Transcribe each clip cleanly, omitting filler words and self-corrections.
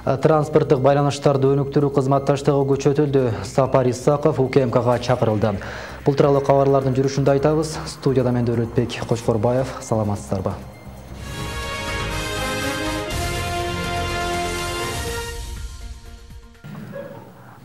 Транспорттық байланыштарды өнүктүрүү кызматташтыгы күчөтүлдү. Сапар Исаков УКМКга чакырылды. Бул тууралуу кабарлардын жүрүшүндө айтабыз. Студияда мен Дөөлөтбек Кочкорбаев. Саламатсыздарбы?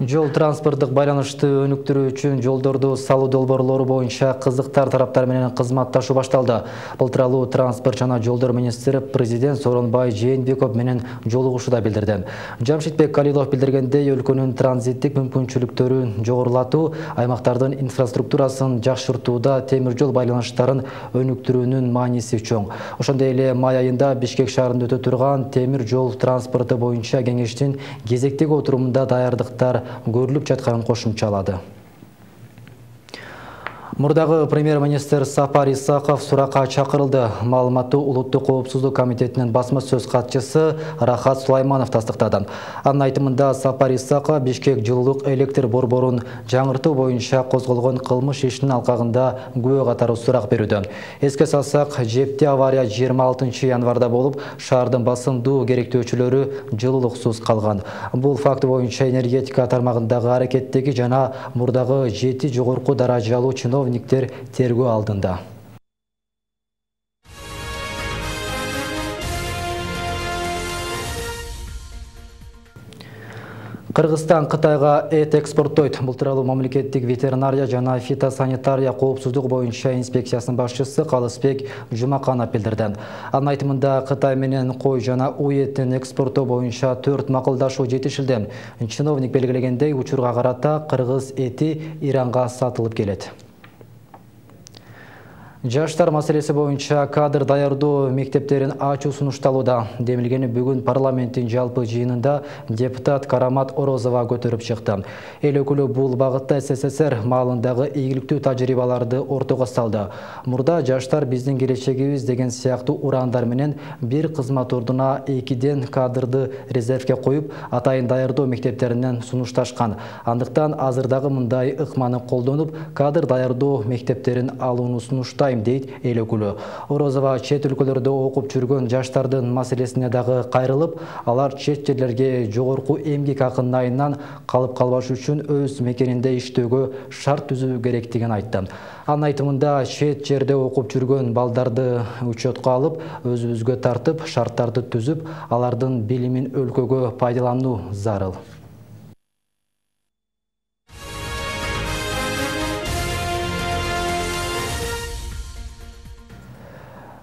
Жол транспорттық байланышты өнүктүрүү үчүн жолдорду салуу долбоорлору боюнча кызыктар тараптар менен кызматташуу башталды. Бул тууралуу транспорт жана жолдор министри президент Сооронбай Жээнбеков менен жолугушууда билдирди. Жамшитбек Калилов билдиргендей, өлкөнүн транзиттик мүмкүнчүлүктөрүн жогорулатуу, аймактардын инфраструктурасын жакшыртууда темир жол байланыштарын өнүктүрүүнүн мааниси чоң. Ошондой эле май айында Бишкек шаарында өтө турган темир жол транспорту боюнча кеңештин кезектеги отурумунда даярдыктар көрүлүп жатканын кошумчалады. Мурдагы премьер-министр Сапар Исаков суракка чакырылды. Маалыматтуу Улуттук коопсуздук комитетинин басма сөз катчысы Рахат Сулайманов тастыктады. Анын айтымында Сапар Исаков Бишкек жылуулук электр борборун жаңыртуу боюнча козголгон кылмыш ишинин алкагында күбө катары сурак берүүдө. Эске салсак, жепти авария 26 январда болуп, шаардын басымдуу керектөөчүлөрү жылуулуксуз калган. Бул факт боюнча энергетика тармагындагы аракеттеги жана мурдагы 7 жогорку даражалуу чиновниктер тергөө алдында. Кыргызстан Кытайга эт экспорттойт. Бул тууралуу мамлекеттик ветеринария жана фитосанитария коопсуздук боюнча инспекциясынын башчысы Калысбек Жумаканов билдирди. Анын айтымында Кытай менен кой жана уй этин экспорттоо боюнча 4 макулдашуу жетишилди. Чиновник белгилегендей, учурга карата кыргыз эти Иранга сатылып келет. Жаштар маселеси боюнча кадр даярдоо мектептерин ачуу сунушталууда. Демилгени бүгүн парламенттин жалпы жыйынында депутат Карамат Орозова көтөрүп чыкты. Эл өкүлү бул багытта СССР маалындагы ийгиликтүү тажрыйбаларды ортого салды. Мурда жаштар биздин келечегибиз деген сыяктуу ураандар менен бир кызмат ордуна 2ден кадрды резервге коюп, атайын даярдоо мектептеринен сунушташкан. Андыктан азырдагы мындай ыкманы колдонуп, кадр даярдоо мектептерин алууну сунуштайт, дейт эл өкүлү. Орозова чет өлкөлөрдө окуп жүргөн жаштардын маселесине дагы кайрылып, алар чет жерлерге жогорку эмгек акынын айынан калып калбаш үчүн өз мекенинде иштөөгө шарт түзүү керектигин айтты. Анын айтымында чет жерде окуп жүргөн балдарды учетко алып, өзүбүзгө тартып, шарттарды түзүп, алардын билимин өлкөгө пайдалануу зарыл.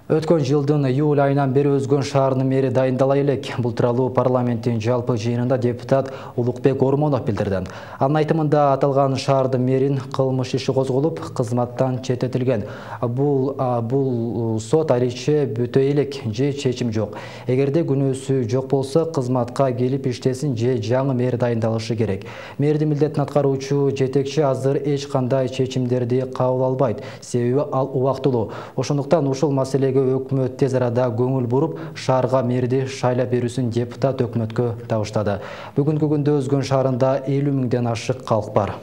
Өткөн жылдын июль айынан бери өзгөн шаарынын мэри дайындала элек. Бул тууралуу парламенттин жалпы жыйынында депутат Улукбек Ормонов билдирди. Анын айтымында аталган шаардын мэрин кылмыш иши козголуп, кызматтан четтетилген. Бул сот алече бүтө элек же чечим жок. Эгерде күнөөсү жок болсо, кызматка келип иштесин же жаңы мэр дайындалышы керек. Мэрдин милдетин аткаруучу жетекчи азыр эч кандай чечимдерди кабыл албайт, себеби ал убактылуу. Ошондуктан ушул маселеге өкмөт тез арада көңүл буруп, шаарга мэрди шайлап берүүсүн депутат өкмөткө табыштады. Бүгүнкү күндө Өзгөн шаарында 50 миңден ашык калк бар.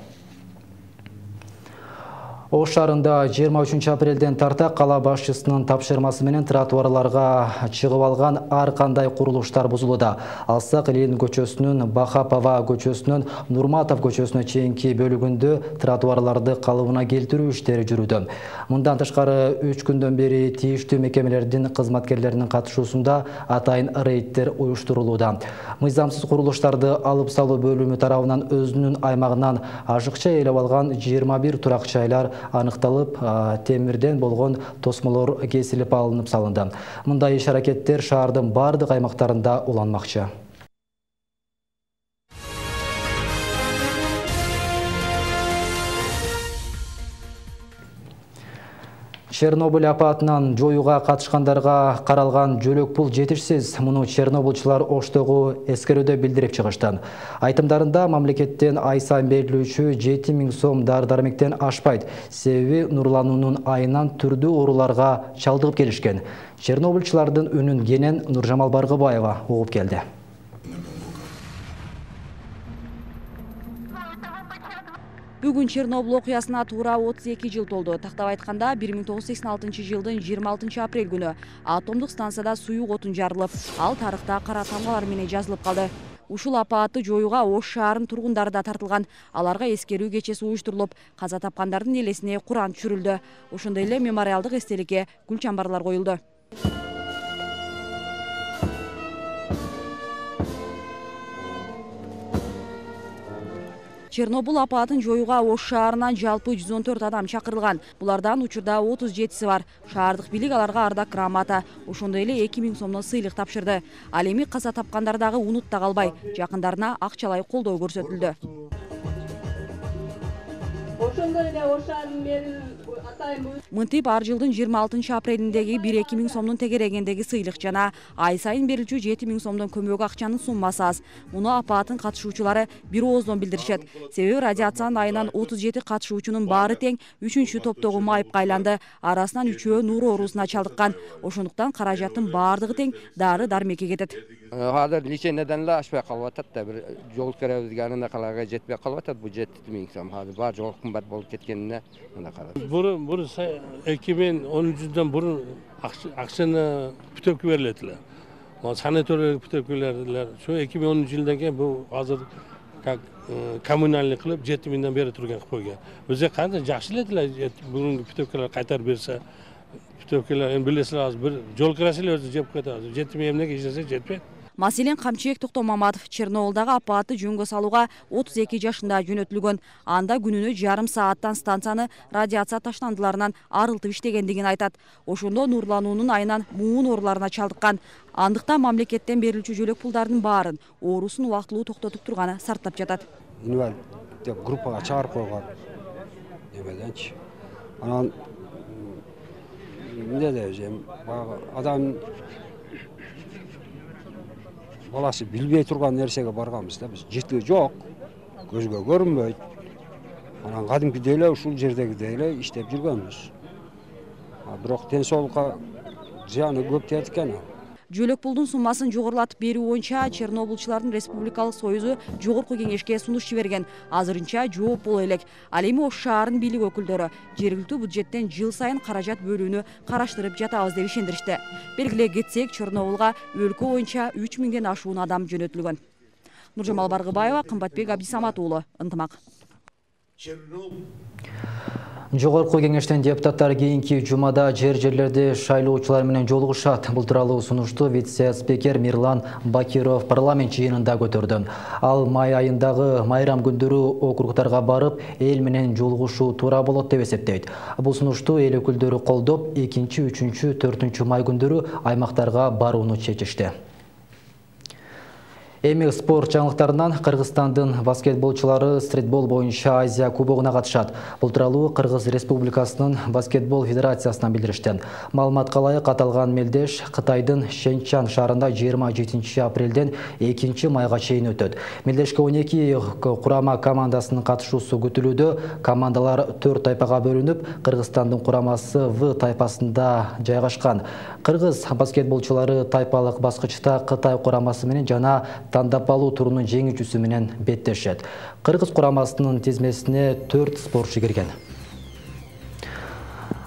Ош шаарында 23 апрелден тарта кала башчысынын тапшырмасы менен тротуарларга чыгып алган ар кандай курулуштар бузулууда. Алсак Ленин көчөсүнүн Бахапова көчөсүнөн Нурматов көчөсүнө чейинки бөлүгүндө тротуарларды калыбына келтирүү иштери жүрүүдө. Мындан тышкары 3 күндөн бери тийиштүү мекемелердин кызматкерлеринин катышуусунда атайын рейдтер уюштурулууда. Мыйзамсыз курулуштарды алып салуу бөлүмү тарабынан өзүнүн аймагынан ашыкча ээлеп алган 21 турак жайлар аныкталып, темирден болгон тосмолор кесилип алынып салынды. Мындай иш-аракеттер шаардын бардык аймактарында уланмакчы. Чернобыль апатынан жоюуга катышкандарга каралган жөлөк пул жетишсиз. Муну чернобылчылар Оштогу эскерүүдө билдирип чыгышты. Айтымдарында мамлекеттен ай сайын берилүүчү 7 000 сом дары-дармектен ашпайт. Себеби нурлануунун айынан түрдүү ооруларга чалдыгып келишкен. Чернобылчылардын үнүн кенен Нуржамал Баргыбаева угуп келди. Бүгүн Чернобыль окуясына туура 32 жыл толду. Тактап айтканда 1986 жылдын 26 апрель күнү атомдук станцияда суюк отун жарылып, ал тарыхта кара тамгалар менен жазылып калды. Ушул апаатты жоюуга Ош шаарынын тургундары да тартылган. Аларга эскерүү кечеси уюштурулуп, каза тапкандардын элесине Куран түшүрүлдү. Ошондой эле мемориалдык эстеликке гүл чамбарлар коюлду. Чернобыль апаатын жоюуга Ош шаарынан жалпы 114 адам чакырылган. Булардан учурда 37 бар. Шаардык бийлик аларга ардак грамота, ошондой эле 2000 сомдон сыйлык тапшырды. Ал эми каза тапкандар дагы унутта калбай, жакындарына акчалай колдоо көрсөтүлдү. Ошондой эле Ош шаарынын мэрин Мынтип ар жылдын 26 апрелиндеги 1-2 сомдун тегерегендеги сыйлык жана ай сайын берилчү 7000 сомдон көмөк акчанын суммасы аз. Муну апааттын катышуучулары бир ооздон билдиришет. Себеби радиациянын айынан 37 катышуучунун баары тең 3-чү топтогу майыпка айланды. Арасынан 3-өө нур оорусуна чалдыккан. Ошондуктан каражаттын баардыгы тең дары-дармекке кетет. Азыр леченияден эле ашпай калып атат да, бир жол керебизге анында каларга жетпей калып атат. Бу 7000 сом. Азыр бар жол кымбат болуп кеткенине мында карап. Бурун 2013-дөн бурун акчаны путевка берилет эле. Санаториялык путевкалар ошо 2010-жылдан кийин бу азыр как коммунальный кылып 7000ден бери турган кылып койгон. Өзү кандай жакшы эле деле бүгүнкү путевкалар кайтарып берсе, путевкалар эми билесиз азыр бир жол кирасы эле өзү жеп коет азыр. 7000 эмнеге иштесе жетпейт. Маселен Камчыбек Токтомаматов Чернобылдагы апаатты жөнгө салууга 32 жашында жөнөтүлгөн. Анда күнүнө жарым сааттан станцияны радиация таштандыларынан арылтып иштегендигин айтат. Ошондо нурлануунун айынан муун ооруларына чалдыккан. Андыктан мамлекеттен берилчү жөлөк пулдардын баарын оорусун убактылуу токтотуп турганы сарптап жатат. Инвалид деп группага чыгарып койгон. Эмеденчи. Анан эмне дейм, баягы адам баласы билбей турган нерсеге барганбыз да, биз жыты жок, көзгө көрүнбөйт. Анан кадимкидей эле ушул жердегидей эле иштеп жүргөнбүз. Бирок ден соолукка зыяны көп тиет экен. Жөлөк пулдун суммасын жогорулатып берүү боюнча Чернобылчылардын Республикалык союзу жогорку кеңешке сунуш жиберген. Азырынча жооп боло элек. Ал эми Ош шаарынын бийлик өкүлдөрү жергиликтүү бюджеттен жыл сайын каражат бөлүүнү караштырып жатабыз деп ишендиришти. Белгилей кетсек, Чернобылга өлкө боюнча 3000ден ашуун адам жөнөтүлгөн. Нуржамал Баргыбаева, Кымбатбек Абдисамат уулу, Ынтымак. Жогорку кеңештен депутаттар кийинки жумада жерлерди шайлоочулар менен жолугушат. Бул тууралуу сунушту вице-спикер Мирлан Бакиров парламент жыйынында көтөрдү. Ал май айындагы майрам күндөрү округдарга барып, эл менен жолугушуу туура болот деп эсептейт. Бул сунушту эл өкүлдөрү колдоп, 2, 3, 4 май күндөрү аймактарга барууну чечишти. Эми спорт жаңылыктарынан Кыргызстандын баскетболчулары стрийтбол боюнча Азия кубогуна катышат. Бул тууралуу Кыргыз Республикасынын баскетбол федерациясынан билдиришти. Маалыматка ылайык аталган мелдеш Кытайдын Шэньчан шаарында 27 апрелден 2 майга чейин өтөт. Мелдешке 12 курама командасынын катышуусу күтүлүүдө. Командалар 4 тайпага бөлүнүп, Кыргызстандын курамасы В тайпасында жайгашкан. Кыргыз баскетболчулары тайпалык баскычта Кытай курамасы менен жана тандап алуу турунун жеңүүчүсү менен беттешет. Кыргыз курамасынын тизмесине 4 спортчу кирген.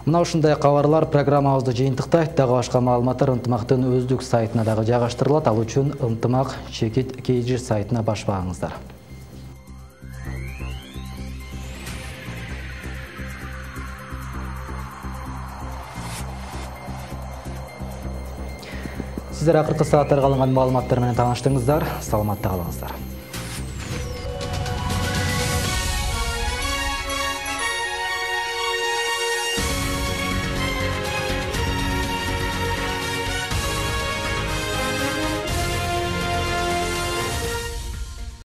Мына ушундай кабарлар программабызды жыйынтыктайт. Дагы башка маалыматтар Ынтымактын өздүк сайтына дагы жайгаштырылат. Ал үчүн Ынтымак _KG сайтына баш багыңыздар. Сиздер акыркы сааттарга алынган маалыматтар менен тааныштыңыздар. Саламатта калыңыздар.